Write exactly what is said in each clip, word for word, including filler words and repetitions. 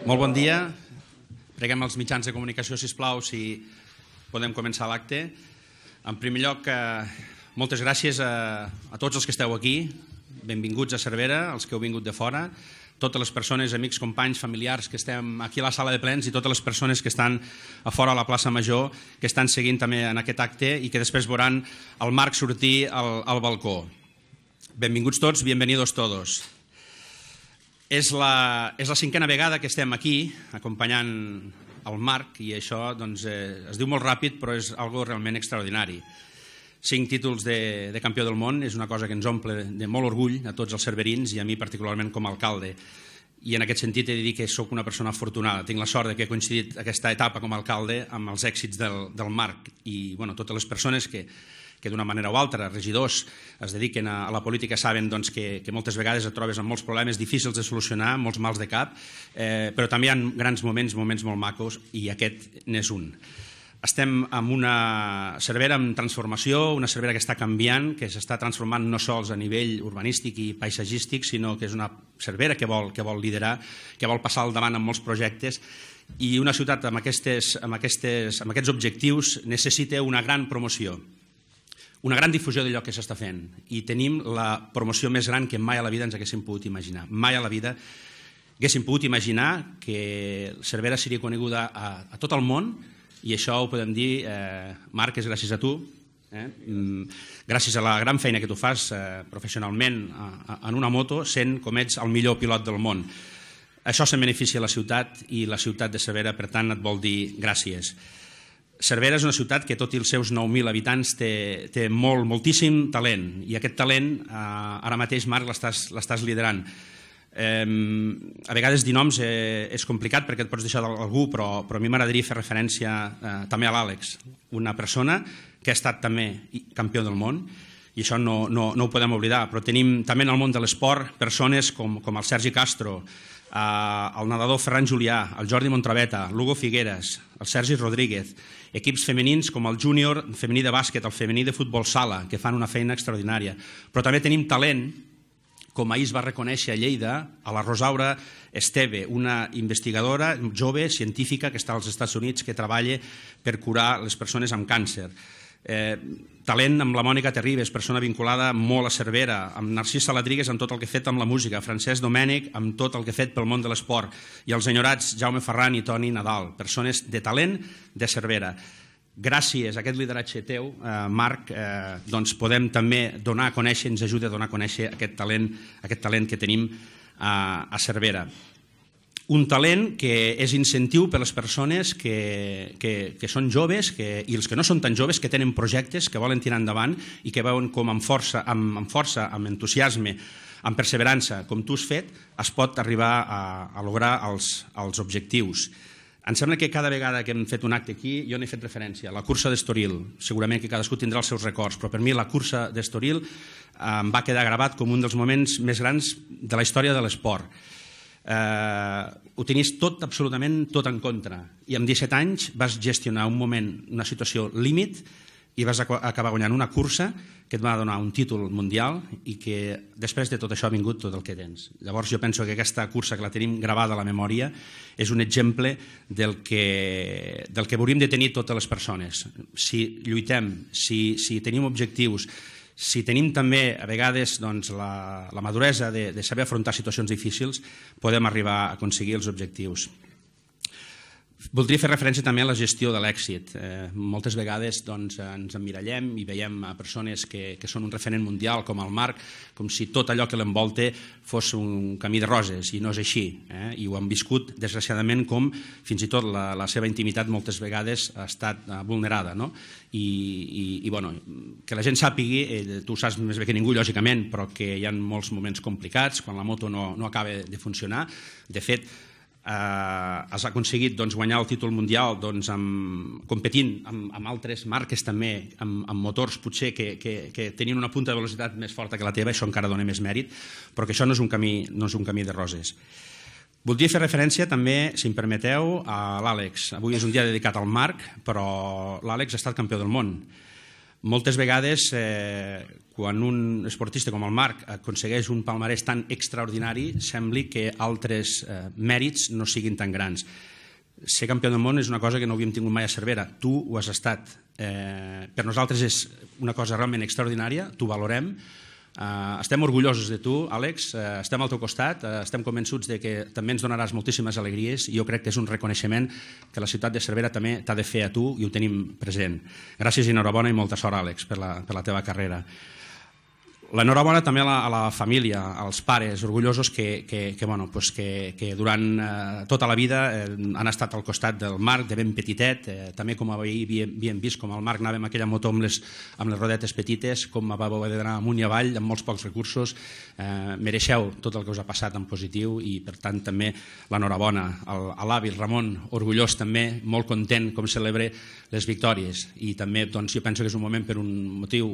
Molt bon dia. Preguem als mitjans de comunicació, sisplau, si podem començar l'acte. En primer lloc, moltes gràcies a, a tots els que esteu aquí. Benvinguts a Cervera, els que heu vingut de fora, totes les persones, amics, companys, familiars que estem aquí a la sala de plens i totes les persones que estan a fora a la plaça Major, que estan seguint també en aquest acte i que després veuran el Marc sortir al, al balcó. Benvinguts tots, bienvenidos todos. És la, és la cinquena vegada que estem aquí acompanyant el Marc i això doncs, eh, es diu molt ràpid però és algo realment extraordinari. Cinc títols de, de campió del món és una cosa que ens omple de molt orgull a tots els cerverins i a mi particularment com a alcalde. I en aquest sentit he de dir que sóc una persona afortunada. Tinc la sort de que he coincidit aquesta etapa com a alcalde amb els èxits del, del Marc i bueno, totes les persones que, que d'una manera o altra, regidors, es dediquen a, a la política saben doncs, que, que moltes vegades et trobes amb molts problemes difícils de solucionar, molts mals de cap, eh, però també hi ha grans moments, moments molt macos i aquest n'és un. Estem en una Cervera en transformació, una Cervera que està canviant, que s'està transformant no sols a nivell urbanístic i paisatgístic, sinó que és una Cervera que vol, que vol liderar, que vol passar al davant amb molts projectes i una ciutat amb, aquestes, amb, aquestes, amb aquests objectius necessita una gran promoció, una gran difusió d'allò que s'està fent i tenim la promoció més gran que mai a la vida ens haguéssim pogut imaginar. Mai a la vida haguéssim pogut imaginar que Cervera seria coneguda a, a tot el món. I això ho podem dir, eh, Marc, és gràcies a tu, eh? gràcies a la gran feina que tu fas eh, professionalment a, a, en una moto, sent com ets el millor pilot del món. Això se'n beneficia a la ciutat i la ciutat de Cervera, per tant, et vol dir gràcies. Cervera és una ciutat que, tot i els seus nou mil habitants, té, té molt, moltíssim talent i aquest talent, eh, ara mateix, Marc, l'estàs liderant. Eh, a vegades dir noms eh, és complicat perquè et pots deixar d'algú, però, però a mi m'agradaria fer referència eh, també a l'Àlex, una persona que ha estat també campió del món i això no, no, no ho podem oblidar, però tenim també en el món de l'esport persones com, com el Sergi Castro, eh, el nedador Ferran Julià, el Jordi Montraveta, l'Hugo Figueres, el Sergi Rodríguez, equips femenins com el júnior femení de bàsquet, el femení de futbol sala, que fan una feina extraordinària, però també tenim talent com ahir es va reconèixer a Lleida, a la Rosaura Esteve, una investigadora jove, científica, que està als Estats Units, que treballa per curar les persones amb càncer. Eh, talent amb la Mònica Terribas, persona vinculada molt a Cervera, amb Narcís Saladrigues amb tot el que ha fet amb la música, Francesc Domènech amb tot el que ha fet pel món de l'esport, i els enyorats Jaume Ferran i Toni Nadal, persones de talent de Cervera. Gràcies a aquest lideratge teu, eh, Marc, eh, doncs podem també donar a conèixer, ens ajuda a donar a conèixer aquest talent, aquest talent que tenim a, a Cervera. Un talent que és incentiu per a les persones que, que, que són joves que, i els que no són tan joves, que tenen projectes, que volen tirar endavant i que veuen com amb força, amb, amb, força, amb entusiasme, amb perseverança, com tu has fet, es pot arribar a, a lograr els, els objectius. Em sembla que cada vegada que hem fet un acte aquí jo n'he fet referència. La cursa d'Estoril, segurament que cadascú tindrà els seus records, però per mi la cursa d'Estoril em va quedar gravat com un dels moments més grans de la història de l'esport. Eh, ho tenies tot, absolutament tot en contra, i amb disset anys vas gestionar un moment, una situació límit, i vas acabar guanyant una cursa que et va donar un títol mundial i que després de tot això ha vingut tot el que tens. Llavors jo penso que aquesta cursa, que la tenim gravada a la memòria, és un exemple del que, del que hauríem de tenir totes les persones. Si lluitem, si, si tenim objectius, si tenim també a vegades doncs, la, la maduresa de, de saber afrontar situacions difícils, podem arribar a aconseguir els objectius. Voldria fer referència també a la gestió de l'èxit. Eh, moltes vegades doncs, ens emmirallem i veiem a persones que, que són un referent mundial, com el Marc, com si tot allò que l'envolta fos un camí de roses, i no és així. Eh? I ho han viscut, desgraciadament, com fins i tot la, la seva intimitat moltes vegades ha estat uh, vulnerada. No? I, i, i bueno, que la gent sàpigui, eh, tu ho saps més bé que ningú, lògicament, però que hi ha molts moments complicats, quan la moto no, no acaba de funcionar. De fet, Eh, has aconseguit doncs, guanyar el títol mundial doncs, amb, competint amb, amb altres marques també, amb, amb motors potser que, que, que tenien una punta de velocitat més forta que la teva, això encara dona més mèrit, però que això no és un camí, no és un camí de roses. Voldria fer referència també, si em permeteu, a l'Àlex. Avui és un dia dedicat al Marc, però l'Àlex ha estat campió del món. Moltes vegades, eh, quan un esportista com el Marc aconsegueix un palmarès tan extraordinari, sembli que altres eh, mèrits no siguin tan grans. Ser campió del món és una cosa que no havíem tingut mai a Cervera. Tu ho has estat. Eh, per nosaltres és una cosa realment extraordinària, t'ho valorem. Uh, estem orgullosos de tu, Àlex, uh, estem al teu costat, uh, estem convençuts de que també ens donaràs moltíssimes alegries i jo crec que és un reconeixement que la ciutat de Cervera també t'ha de fer a tu i ho tenim present. Gràcies i enhorabona i molta sort, Àlex, per la, per la teva carrera. L'enhorabona també a la, a la família, als pares, orgullosos que, que, que, bueno, pues que, que durant eh, tota la vida eh, han estat al costat del Marc, de ben petitet, eh, també com ahir havíem, havíem vist com el Marc anava amb aquella moto amb les, amb les rodetes petites, com va haver d'anar amunt i avall amb molts pocs recursos. Eh, mereixeu tot el que us ha passat en positiu i per tant també l'enhorabona a l'avi, el Ramon, orgullós també, molt content com celebre les victòries i també doncs, jo penso que és un moment per un motiu,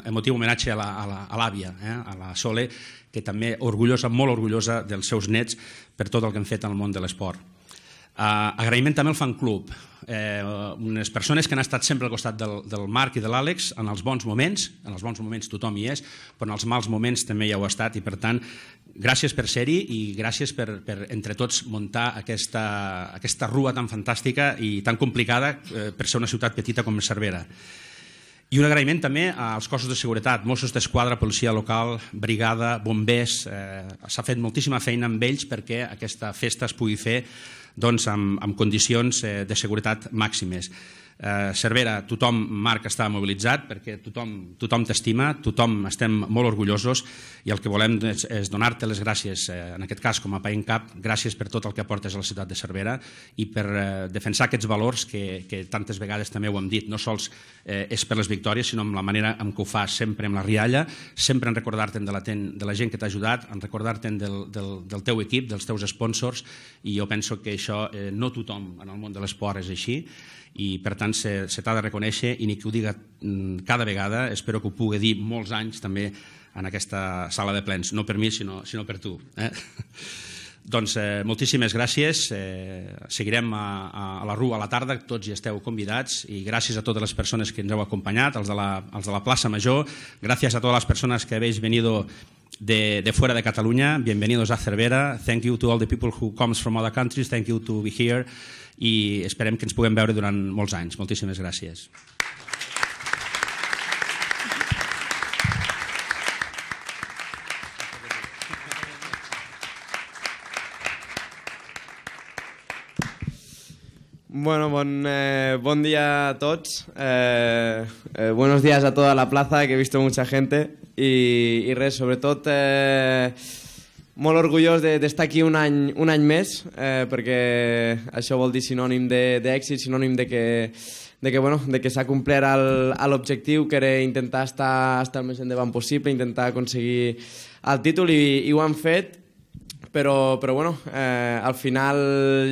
emotiu homenatge a la, a la a l'àvia, eh, a la Sole, que també orgullosa, molt orgullosa dels seus nets per tot el que han fet al món de l'esport. Uh, agraïment també al fan club, eh, unes persones que han estat sempre al costat del, del Marc i de l'Àlex en els bons moments, en els bons moments tothom hi és, però en els mals moments també hi heu estat i per tant gràcies per ser-hi i gràcies per, per entre tots muntar aquesta, aquesta rua tan fantàstica i tan complicada eh, per ser una ciutat petita com Cervera. I un agraïment també als cossos de seguretat, Mossos d'Esquadra, policia local, brigada, bombers. Eh, S'ha fet moltíssima feina amb ells perquè aquesta festa es pugui fer doncs, amb, amb condicions eh, de seguretat màximes. Eh, Cervera, tothom, Marc, està mobilitzat perquè tothom, tothom t'estima, tothom estem molt orgullosos i el que volem és, és donar-te les gràcies, eh, en aquest cas com a Paint Cap, gràcies per tot el que aportes a la ciutat de Cervera i per eh, defensar aquests valors que, que tantes vegades també ho hem dit, no sols eh, és per les victòries, sinó amb la manera en què ho fas, sempre amb la rialla, sempre en recordar-te'n de, la de la gent que t'ha ajudat, en recordar-te'n del, del, del teu equip, dels teus sponsors, i jo penso que això eh, no tothom en el món de l'esport és així, i per tant se, se t'ha de reconèixer i ni que ho diga cada vegada, espero que ho pugui dir molts anys també en aquesta sala de plens, no per mi sinó, sinó per tu. Eh? Doncs eh, moltíssimes gràcies, eh, seguirem a, a la Rua a la tarda, tots hi esteu convidats i gràcies a totes les persones que ens heu acompanyat, els de la, els de la plaça Major, gràcies a totes les persones que habéis venido de, de fuera de Catalunya, bienvenidos a Cervera, thank you to all the people who comes from other countries, thank you to be here i esperem que ens puguem veure durant molts anys. Moltíssimes gràcies. Bueno, bon, eh, bon día a todos. Eh, eh, buenos días a toda la plaza, que he visto mucha gente. I, i res, sobretot, eh, molt orgullós d'estar aquí un any, un any més, eh, perquè això vol dir sinònim d'èxit, sinònim de que, de que, bueno, de que s'ha complert l'objectiu, que era intentar estar, estar el més endavant possible, intentar aconseguir el títol, i, i ho han fet. Però, però bueno, eh, al final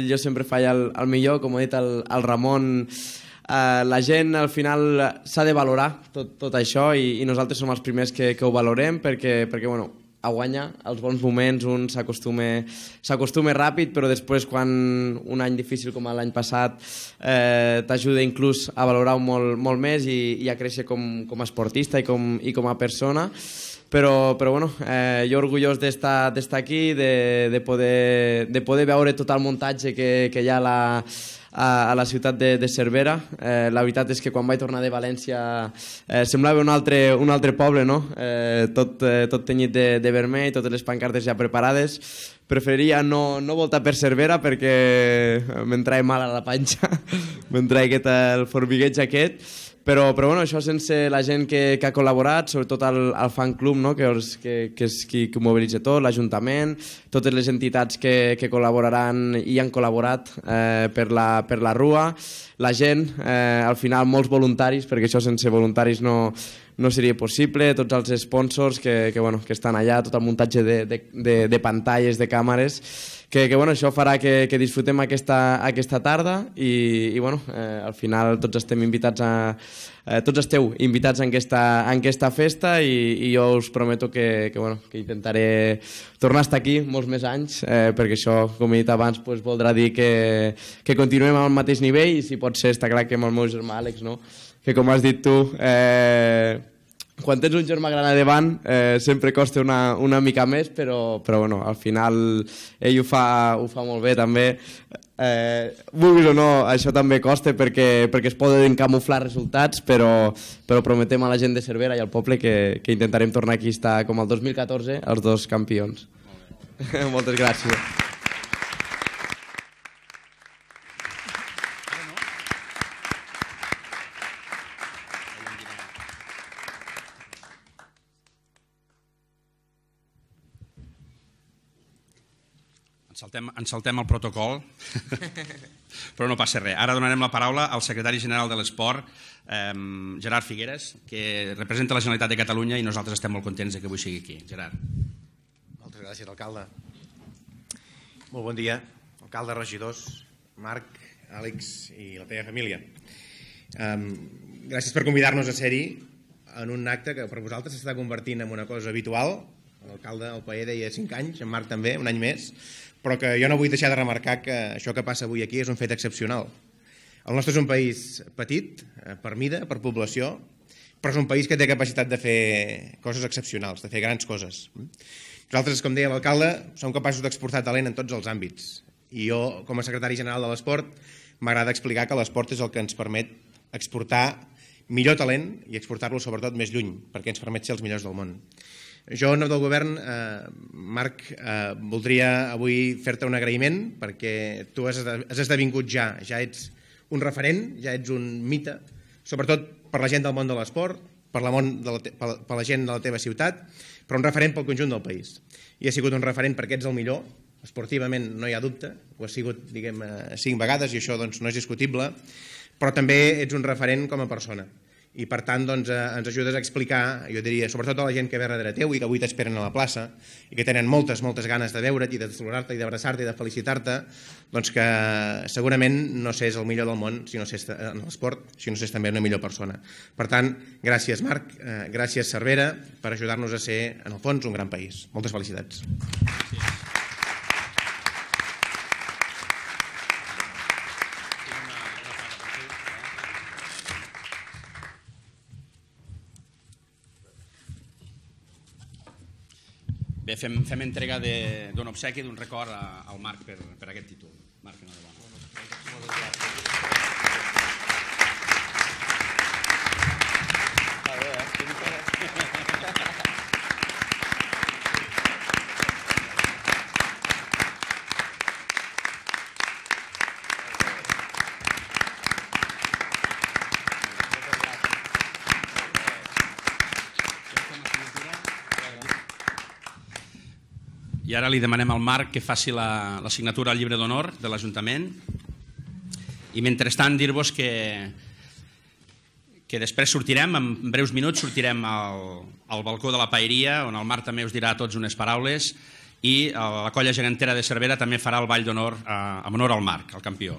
jo sempre faig el, el millor, com ha dit el, el Ramon, eh, la gent al final s'ha de valorar tot, tot això i, i nosaltres som els primers que, que ho valorem perquè, perquè bueno, a guanyar els bons moments un s'acostuma ràpid, però després quan un any difícil com l'any passat eh, t'ajuda inclús a valorar-ho molt, molt més i, i a créixer com, com a esportista i com, i com a persona. Però, però bueno, eh, jo orgullós d'estar aquí, de, de, poder, de poder veure tot el muntatge que, que hi ha a la, a, a la ciutat de, de Cervera. Eh, la veritat és que quan vaig tornar de València eh, semblava un altre, un altre poble, no? Eh, tot, eh, tot tenyit de, de vermell, totes les pancartes ja preparades. Preferiria no, no voltar per Cervera perquè me'n traia mal a la panxa, me'n traia aquest, el formigueig aquest. Però, però bueno, això sense la gent que, que ha col·laborat, sobretot el, el fan club, no? que, els, que, que és qui, qui mobilitza tot, l'Ajuntament, totes les entitats que, que col·laboraran i han col·laborat eh, per, la, per la Rua, la gent, eh, al final molts voluntaris, perquè això sense voluntaris no, no seria possible, tots els sponsors que, que, bueno, que estan allà, tot el muntatge de, de, de, de pantalles, de càmeres, que, que bueno, això farà que, que disfrutem aquesta, aquesta tarda i, i bueno, eh, al final tots estem invitats a... Eh, tots esteu invitats en aquesta, en aquesta festa i, i jo us prometo que, que, bueno, que intentaré tornar a estar aquí molts més anys, eh, perquè això, com he dit abans, pues, voldrà dir que, que continuem al mateix nivell i si pot ser, està clar que amb el meu germà Àlex, no? Que com has dit tu, eh, quan tens un germà gran a davant eh, sempre costa una, una mica més, però, però bueno, al final ell ho fa, ho fa molt bé també. Eh, vulguis o no, això també costa perquè, perquè es poden camuflar resultats, però, però prometem a la gent de Cervera i al poble que, que intentarem tornar aquí a estar com el dos mil catorze els dos campions. Moltes gràcies. Ens saltem, ens saltem el protocol, però no passa res. Ara donarem la paraula al secretari general de l'Esport, eh, Gerard Figueres, que representa la Generalitat de Catalunya i nosaltres estem molt contents que avui sigui aquí. Gerard. Moltes gràcies, alcalde. Molt bon dia, alcalde, regidors, Marc, Àlex i la teva família. Um, gràcies per convidar-nos a ser-hi en un acte que per vosaltres s'està convertint en una cosa habitual. L'alcalde, el Paer, deia cinc anys, en Marc també, un any més, però que jo no vull deixar de remarcar que això que passa avui aquí és un fet excepcional. El nostre és un país petit, per mida, per població, però és un país que té capacitat de fer coses excepcionals, de fer grans coses. Nosaltres, com deia l'alcalde, som capaços d'exportar talent en tots els àmbits. I jo, com a secretari general de l'Esport, m'agrada explicar que l'esport és el que ens permet exportar millor talent i exportar-lo sobretot més lluny, perquè ens permet ser els millors del món. Jo, en nom del govern, eh, Marc, eh, voldria avui fer-te un agraïment perquè tu has, has esdevingut ja, ja ets un referent, ja ets un mite, sobretot per la gent del món de l'esport, per la, món de la, per, per la gent de la teva ciutat, però un referent pel conjunt del país. I ha sigut un referent perquè ets el millor, esportivament no hi ha dubte, ho has sigut, diguem, cinc vegades i això doncs, no és discutible, però també ets un referent com a persona. I per tant doncs, eh, ens ajudes a explicar, jo diria, sobretot a la gent que ve darrere teu i que avui t'esperen a la plaça i que tenen moltes, moltes ganes de veure't i de saludar-te i d'abraçar-te i de felicitar-te, doncs que segurament no s'és el millor del món si no s'és en l'esport, si no s'és també una millor persona. Per tant, gràcies Marc, eh, gràcies Cervera per ajudar-nos a ser, en el fons, un gran país. Moltes felicitats. Gràcies. Bé, fem, fem entrega d'un obsequi, d'un record a, al Marc per, per aquest títol. Marc, enhorabona. Moltes gràcies. I ara li demanem al Marc que faci la, la signatura al llibre d'honor de l'Ajuntament. I mentrestant dir-vos que, que després sortirem, en breus minuts sortirem al, al balcó de la paeria, on el Marc també us dirà a tots unes paraules, i la colla gegantera de Cervera també farà el ball d'honor eh, en honor al Marc, el campió.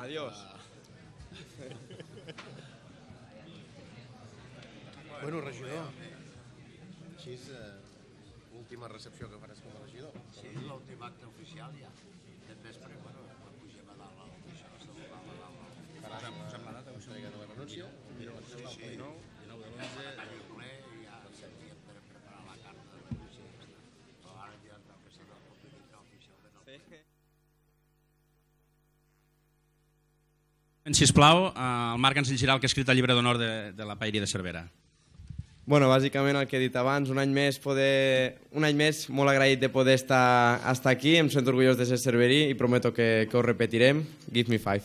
Adiós. Bueno, regidor, així és l'última recepció que faràs com a regidor. Sí, l'últim acte oficial ja. Aquest vespre, bueno, quan pugem a dalt l'oficial, saludar a dalt. Posem la data, entrega de la renúncia. Sí, sí, dinou de l'onze. El ple i ja havíem de preparar la carta de renúncia. Però ara ja està, que s'ha de Sisplau, el Marc ens llegirà el que ha escrit el llibre d'honor de la Paeria de Cervera. Bueno, bàsicament el que he dit abans, un any més, poder, un any més molt agraït de poder estar, estar aquí, em sento orgullós de ser cerverí i prometo que, que ho repetirem. Give me five.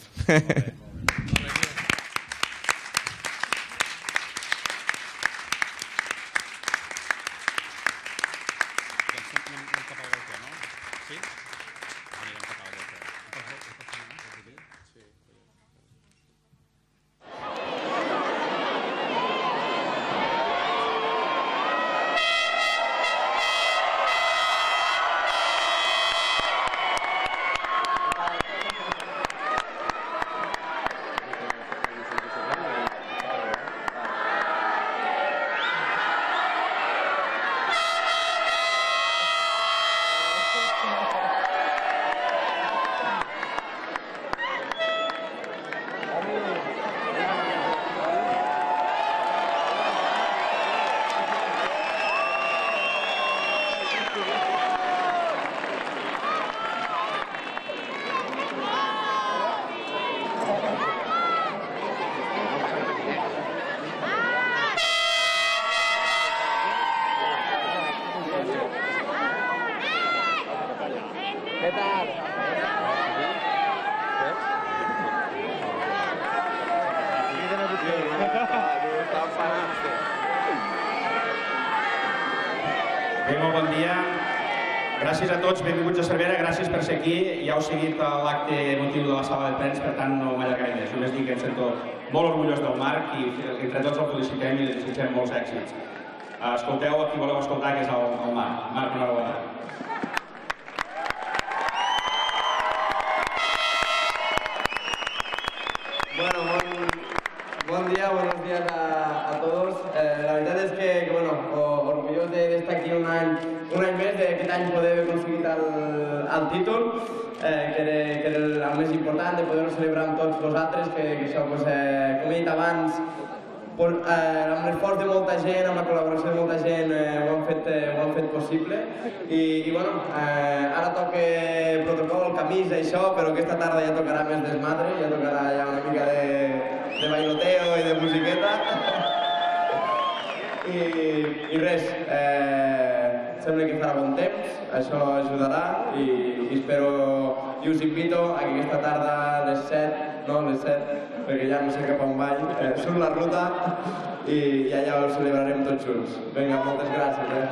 Gràcies a tots, benvinguts a Cervera, gràcies per ser aquí. Ja heu seguit l'acte emotiu de la sala de plens, per tant no m'allargaré més. Només dic que em sento molt orgullós del Marc i entre tots el felicitem i li desitgem molts èxits. Escolteu a qui voleu escoltar, que és el Marc. Marc, enhorabona. Bueno, bon día, buenos días a, a todos. Eh, la verdad es que, que bueno, orgulloso de, de estar aquí un any, un any més, d'aquest any poder haver aconseguit el, el títol, eh, que, era, que era el, el més important, de poder-ho celebrar amb tots vosaltres, que, que això, pues, eh, com he dit abans, por, eh, amb l'esforç de molta gent, amb la col·laboració de molta gent, eh, ho, han fet, eh, ho han fet possible. I, i bueno, eh, ara toca protocol, camisa i això, però aquesta tarda ja tocarà més desmadre, ja tocarà ja una mica de, de bailoteo i de musiqueta. I, i res, eh, sembla que farà bon temps, això ajudarà i, i espero, i us invito a que aquesta tarda a les set, no, a les set, perquè ja no sé cap on vaig, eh, surt la ruta i, i allà ho celebrarem tots junts. Vinga, moltes gràcies. Eh?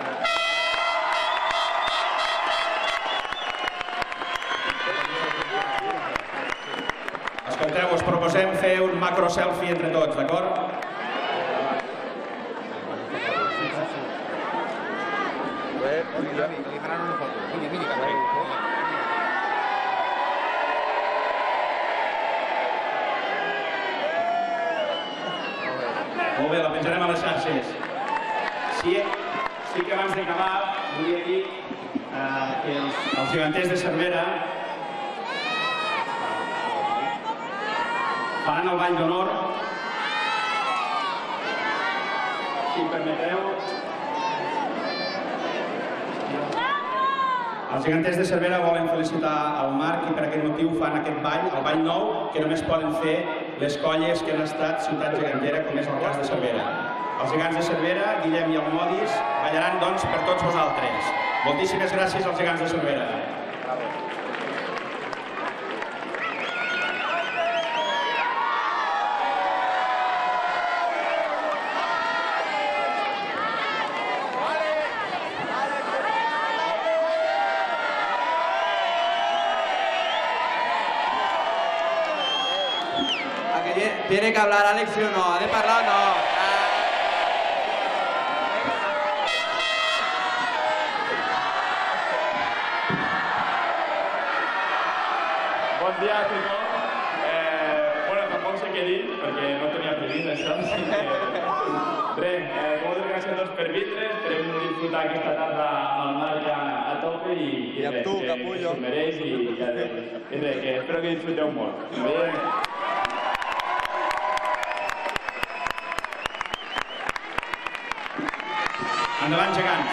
Escolteu, us proposem fer un macro selfie entre tots, d'acord? Li faran una foto. Vinga, vinga. Molt bé, la penjarem a les xarxes. Sí, sí que abans d'acabar volia dir eh, que els, els geganters de Cervera faran el ball d'honor. Si em permeteu, els geganters de Cervera volen felicitar el Marc i per aquest motiu fan aquest ball, el ball nou, que només poden fer les colles que han estat ciutat gegantera, com és el cas de Cervera. Els gegants de Cervera, Guillem i el Modis, ballaran doncs per tots vosaltres. Moltíssimes gràcies als gegants de Cervera. ¿Tiene que hablar Alex, sí o no? ¿Ha de parlar o no? Bon dia a tothom. Eh, bueno, tampoc sé què dir, perquè no tenia previst això. Així que... Res, eh, moltes gràcies a tots per vindre. Esperem disfrutar aquesta tarda amb el Marc a, a tope i, i, I amb res, tu, que, que s'ho mereix i, i, i res, que espero que disfruteu molt. Ens veiem. Endavant, gegants.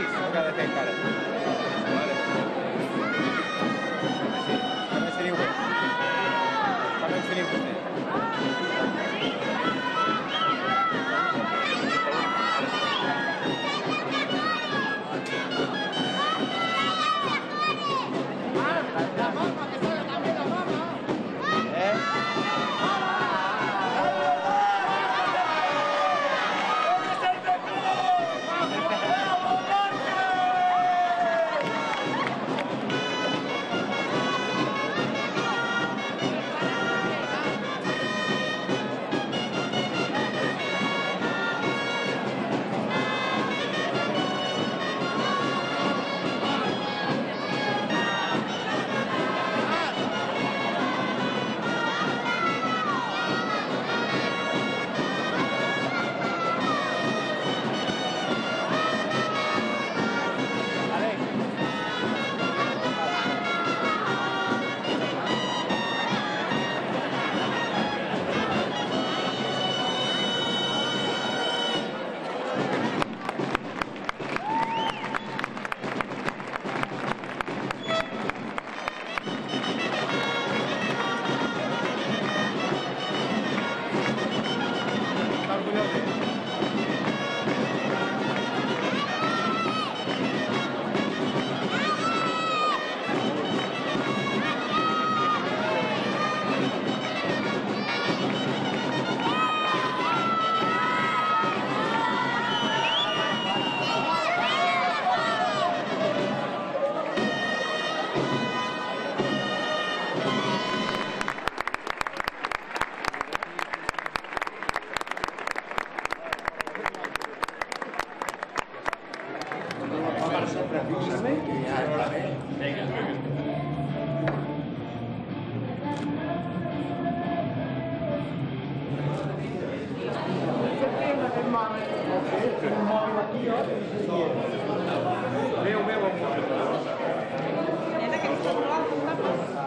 sis, el que ha de fer encara. Vale. Sí, també ens teniu vos. També ens teniu vostè.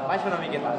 Baixa una miqueta.